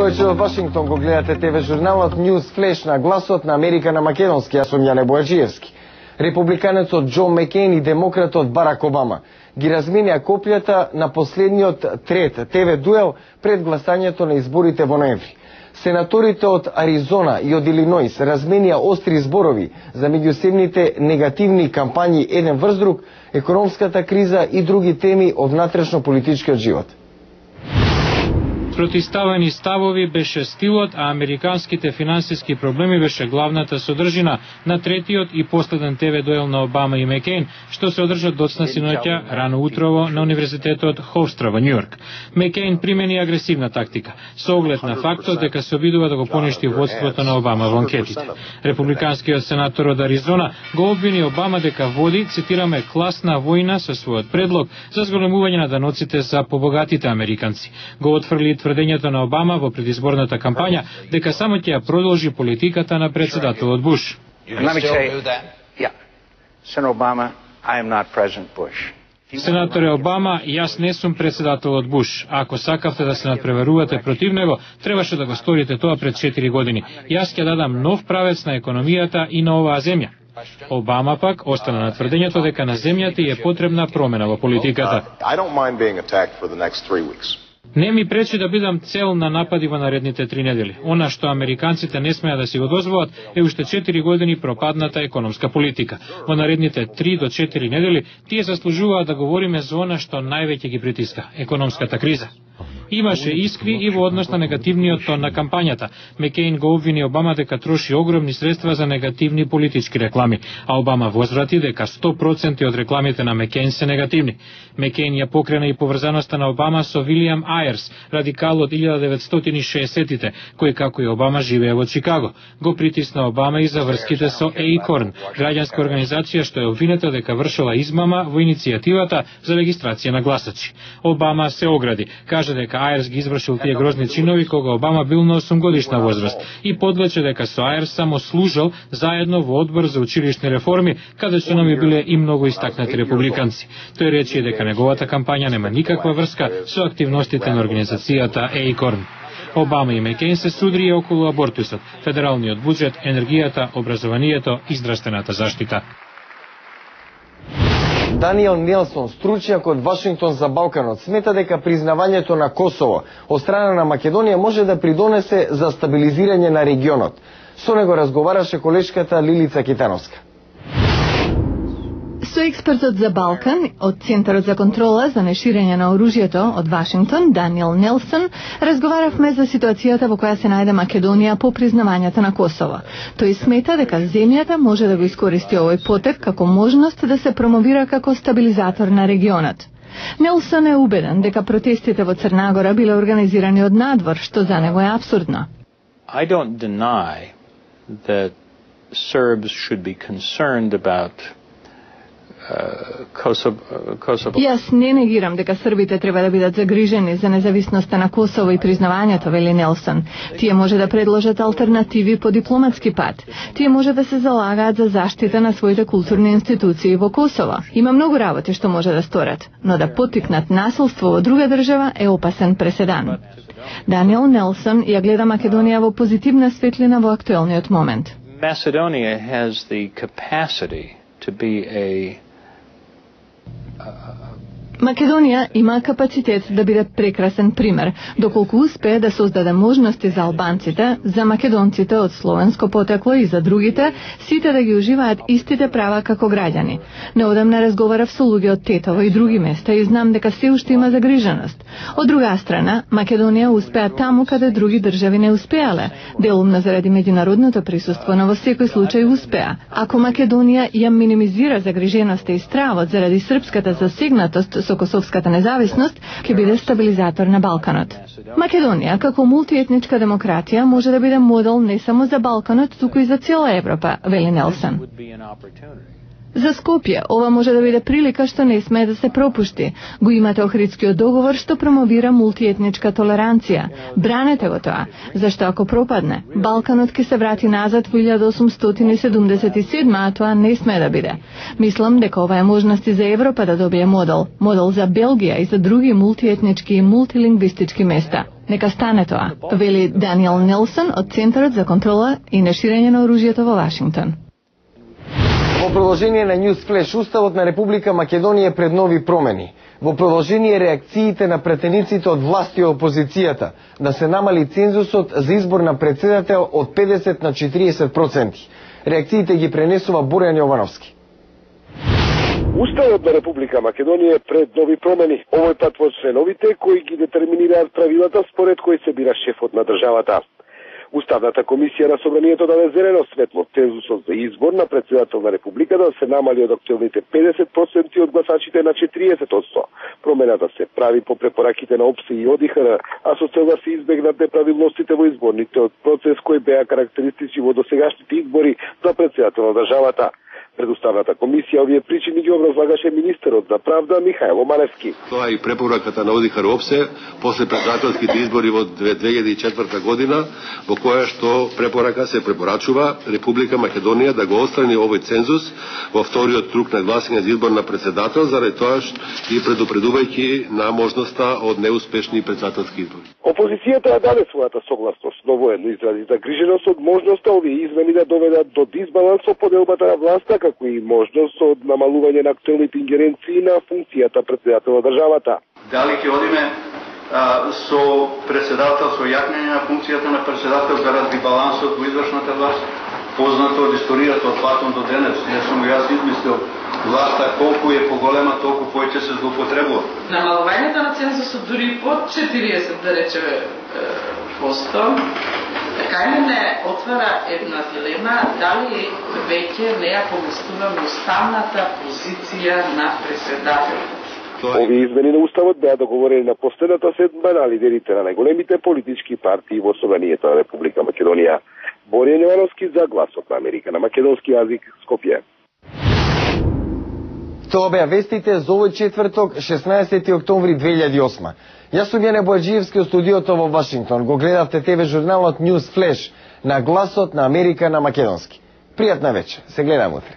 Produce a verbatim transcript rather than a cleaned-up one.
Добро вечер од Вашингтон, го гледате ТВ журналот News Flash на гласот на Америка на македонски. Јас сум Јане Бојаджиевски. Републиканецот Џо Макејн и демократот Барак Обама ги разменија копијата на последниот трет ТВ дуел пред гласањето на изборите во ноември. Сенаторите од Аризона и од Илиноис разменија остри зборови за меѓусебните негативни кампањи еден врз друг, економската криза и други теми од внатрешно политичкиот живот. Протиставени ставови беше стилот, а американските финансиски проблеми беше главната содржина на третиот и последен ТВ дуел на Обама и Макејн, што се одржа доцна синоќа рано утрово на Универзитетот Хофстра во Њујорк. Макејн примени агресивна тактика, со оглед на фактот дека се обидува да го поништи водството на Обама во анкетите. Републиканскиот сенатор од Аризона го обвини Обама дека води, цитираме, класна војна со својот предлог за зголемување на даноците за побогатите американци. Го отфрли тврдењето на Обама во предизборната кампања дека само ќе ја продолжи политиката на председателот Буш. Сенаторе Обама, јас не сум председателот Буш. Ако сакавте да се надпреварувате против него, требаше да го сторите тоа пред четири години. Јас ќе дадам нов правец на економијата и на оваа земја. Обама пак остана на тврдењето дека на земјата е потребна промена во политиката. Не ми пречи да бидам цел на напади во наредните три недели. Она што американците не смеа да си го дозволат е уште четири години пропадната економска политика. Во наредните три до четири недели тие заслужуваат да говориме за она што највеќе ги притиска – економската криза. Имаше искри и во однос на негативниот тон на кампањата. Макејн го обвини Обама дека троши огромни средства за негативни политички реклами, а Обама возврати дека сто проценти од рекламите на Макејн се негативни. Макејн ја покрена и поврзаноста на Обама со Вилијам Ајерс, радикал од илјада деветстотини и шеесеттите, кој како и Обама живее во Чикаго. Го притисна Обама и за врските со Acorn, граѓанска организација што е обвинета дека вршила измама во иницијативата за регистрација на гласачи. Обама се огради, кажа дека Ајерс ги извршил тие грозни чинови кога Обама бил на осум годишна возраст и подлече дека со Ајерс само служел заедно во одбор за училишни реформи, каде членови биле и многу истакнати републиканци. Тој рече дека неговата кампања нема никаква врска со активностите на организацијата Acorn. Обама и Макејн се судрија околу абортусот, федералниот буџет, енергијата, образованието и здравствената заштита. Даниел Нелсон, стручњак од Вашингтон за Балканот, смета дека признавањето на Косово од страна на Македонија може да придонесе за стабилизирање на регионот. Со него разговараше колешката Лилица Китановска. Со експертот за Балкан од Центарот за контрола за неширење на оружјето од Вашингтон, Даниел Нелсон, разговаравме за ситуацијата во која се најде Македонија по признавањето на Косово. Тој смета дека земјата може да го искористи овој потек како можност да се промовира како стабилизатор на регионот. Нелсон е убеден дека протестите во Црнагора биле организирани од надвор, што за него е апсурдно. I don't deny that Serbs should be concerned about Kosovo. Јас не негирам дека србите треба да бидат загрижени за независноста на Косово и признавањето, вели Нелсон. Тие може да предложат алтернативи по дипломатски пат. Тие може да се залагаат за заштита на своите културни институции во Косово. Има многу работи што може да сторат, но да поттикнат насилство во друга држава е опасен преседан. Даниел Нелсон ја гледа Македонија во позитивна светлина во актуелниот момент. Macedonia has the capacity to be a Македонија има капацитет да биде прекрасен пример, доколку успее да создаде можности за албанците, за македонците од словенско потекло и за другите, сите да ги уживаат истите права како граѓани. Неодамна разговарав со луѓе од Тетово и други места и знам дека се уште има загриженост. Од друга страна, Македонија успеа таму каде други држави не успеале, делумно заради меѓународното присуство, но во секој случај успеа. Ако Македонија ја минимизира загриженоста и стравот заради српската засегнатост со косовската независност, ќе биде стабилизатор на Балканот. Македонија, како мултиетничка демократија, може да биде модел не само за Балканот, туку и за цела Европа, вели Нелсон. За Скопје ова може да биде прилика што не смее да се пропушти. Го имате Охридскиот договор што промовира мултиетничка толеранција. Бранете го тоа, зашто ако пропадне, Балканот ќе се врати назад во илјада осумстотини седумдесет и седма, а тоа не смее да биде. Мислам дека ова е можност и за Европа да добие модел, модел за Белгија и за други мултиетнички и мултилингвистички места. Нека стане тоа, вели Даниел Нелсон од Центарот за контрола и неширење на оружјето во Вашингтон. Во продолжение на News Flash, Уставот на Република Македонија е пред нови промени. Во продолжение реакциите на претениците од власти и опозицијата да се намали цензусот за избор на председател од педесет на четириесет проценти. Реакциите ги пренесува Борјан Јовановски. Уставот на Република Македонија е пред нови промени. Овој пат во членовите кои ги детерминираат правилата според кои се бира шефот на државата. Уставната комисија на Собранието даде зелено светло цензусот за избор на председател на Републиката да се намали од актуелните педесет проценти од гласачите на четириесет проценти. Промената се прави по препораките на ОПСЕ и ОДИХР, а со цел да се избегнат неправилностите во изборните од процес кои беа карактеристични во досегашните избори за председател на државата. Пред Уставната комисија овие причини ги образлагаше министерот за правда Михајло Маневски. Тоа и препораката на ОДИХР ОПСЕ после председателските избори во две илјади и четврта година, во која што препорака се препорачува Република Македонија да го отстрани овој цензус во вториот круг на гласање за избор на председател, заради тоа што и предупредувајќи на можноста од неуспешни председателски избори. Опозицијата ја даде својата согласност, но воедно изрази загриженост од можноста овие измени да доведат до дисбаланс во поделбата на власта, како и можност од намалување на актуелните ингеренции на функцијата председател на државата. Дали ќе одиме а, со председател, со јакнење на функцијата на председател заради балансот во извршната власт, познато од историјата од Платон до денес. Ја сум јас измислил власта колку е поголема, толку повеќе се злоупотребува. Намалувањето на цензусот дури под четириесет, да речеме, посто, така ли не отвара една дилема дали веќе не ја поместуваме уставната позиција на председателот. Овие измени на Уставот беа договорени на последната седма на лидерите на најголемите политички партии во Собранието на Република Македонија. Борјан Јовановски за Гласот на Америка на македонски јазик, Скопје. Тоа беа вестите за овој четврток, шеснаесети октомври две илјади и осма. Јас сум Јане Бојаджиевски од студиото во Вашингтон. Го гледавте ТВ журналот News Flash на Гласот на Америка на македонски. Пријатна вечер. Се гледам утре.